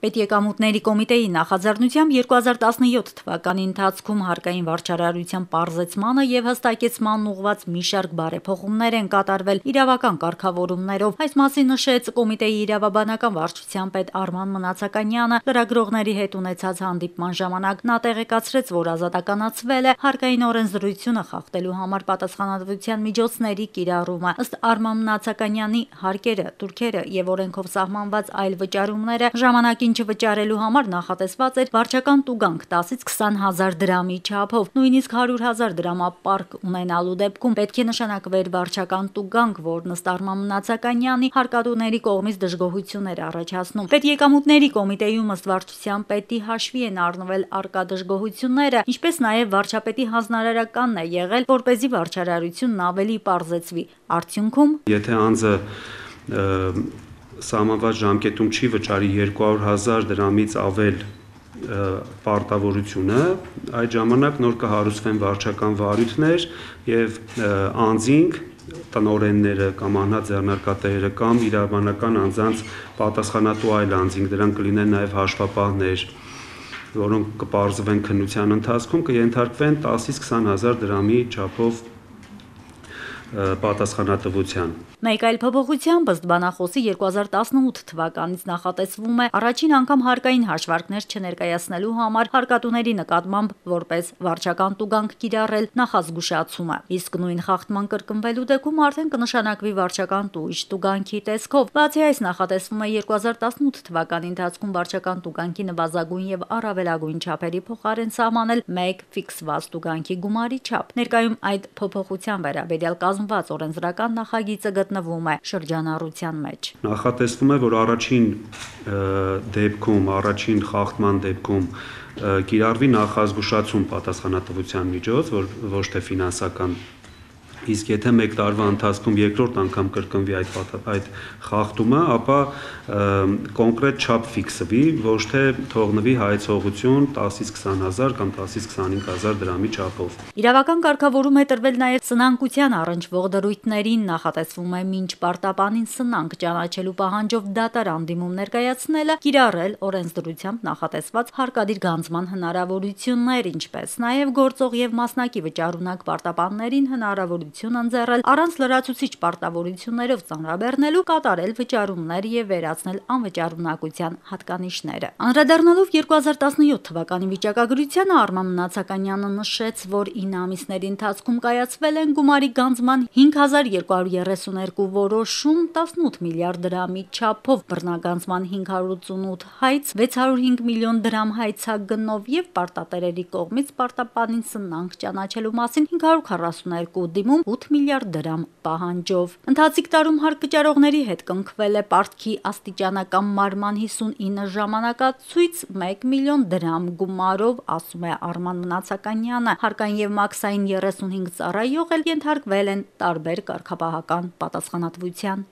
Պետեկամուտների կոմիտեի նախաձեռնությամբ 2017 թվականի ընթացքում հարկային վարչարարության պարզեցմանը եւ հստակեցմանն ուղղված մի շարք բարեփոխումներ են կատարվել իրավական կարգավորումներով։ Այս մասին նշեց կոմիտեի իրավաբանական վարչության պետ Արման Մնացականյանը լրագրողների հետ ունեցած հանդիպման ժամանակ։ Նա տեղեկացրեց, որ ազատականացվել է հարկային օրենսդրությունը խախտելու համար պատասխանատվության միջոցների կիրառումը։ Ըստ Արման Մնացականյանի հարկերը, տուրքերը եւ օրենքով սահմանված այլ վճարումները ժամանակին չվճարելու համար նախատեսված էր վարչական տուգանք 10-ից 20 հազար դրամի չափով, նույնիսկ 100 հազար դրամապարկ ունենալու դեպքում պետք է նշանակվեր վարչական տուգանք, որն ըստ Արման Մնացականյանի հարկատուների կողմից դժգոհություն էր առաջացնում։ Պետեկամուտների կոմիտեում ըստ վարչության պետի հաշվի են առնվել առկա դժգոհությունները, ինչպես նաև վարչապետի հանձնարարականն է եղել, որպեսզի վարչարարությունն ավելի պարզեցվի։ Արդյունքում, եթե անձը սահմանված ժամկետում չի վճարի 200 հազար դրամից ավել պարտավորությունը, այդ ժամանակ նոր կհարուցվեն վարչական վարույթներ եւ անձինք, տնօրենները կամ անհատձեռնարկատերերը կամ իրավաբանական անձանց պատասխանատու այլ անձինք, դրանք կլինեն նաեւ հաշվապահներ, որոնք կպարզվեն քննության ընթացքում, կենթարկվեն 10-ից 20 հազար դրամի չափով պատասխանատվության։ Մեկ այլ փոփոխությամբ ըստ բանախոսի 2018 թվականից նախատեսվում է առաջին անգամ հարկային հաշվարկներ չներկայացնելու համար հարկատուների նկատմամբ որպես վարչական տուգանք կիրառել նախազգուշացումը, իսկ նույն խախտման կրկնվելու դեպքում արդեն կնշանակվի վարչական տույժ տուգանքի տեսքով։ Բացի այս, նախատեսվում է 2018 թվականի ընթացքում վարչական տուգանքի նվազագույն եւ առավելագույն չափերի փոխարեն սահմանել մեկ ֆիքսված տուգանքի գումարի չափ։ Ներկայում այդ փոփոխության վերաբերյալ կազմված օրենսդրական նախագիծը գտնվում է շրջանառության մեջ։ Նախատեսվում է, որ առաջին խախտման դեպքում կիրառվի նախազգուշացում պատասխանատվության միջոց, որ ոչ թե ֆինանսական, իսկ եթե մեկ տարվա ընթացքում երկրորդ անգամ կրկնվի այդ խախտումը, ապա կոնկրետ չափ ֆիքսվի, ոչ թե թողնվի հայեցողություն 10-ից 20 հազար կամ 10-ից 25 հազար դրամի չափով։ Իրավական կարգավորում է տրվել նաև սնանկության առնչվող դրույթներին, նախատեսվում է մինչ պարտապանին սնանկ ճանաչելու պահանջով դատարան դիմում ներկայացնելը, կիրառել օրենսդրությամբ նախատեսված հարկադիր գանձման հնարավորություններ, ինչպես նաև գործող եւ մասնակի վճարունակ պարտապաններին հնարավորություն ընձեռել առանց լրացուցիչ պարտավորություններով ծանրաբեռնելու, կատարել վճարումներ եւ վերացնել անվճարունակության հատկանիշները։ Անդրադառնալով 2017 թվականի վիճակագրությանը, Արման Մնացականյանը նշեց, որ 9 ամիսների ընթացքում կայացվել են գումարի գանձման 5232 որոշում, 18 միլիարդ դրամի չափով բռնագանձման 588 հայց, 605 միլիոն դրամ հայցագնով եւ պարտատերերի կողմից պարտապանին սնանկ ճանաչելու մասին 542 դիմում 8 միլիարդ դրամ պահանջով։ Ընթացիկ տարում հարկ վճարողների հետ կնքվել է պարտքի աստիճանական մարման 59 ժամանակացույց 1 միլիոն դրամ գումարով, ասում է Արման Մնացականյանը։ Հարկային եւ մաքսային 35 ծառայող էլ ենթարկվել են տարբեր կարգապահական պատասխանատվության։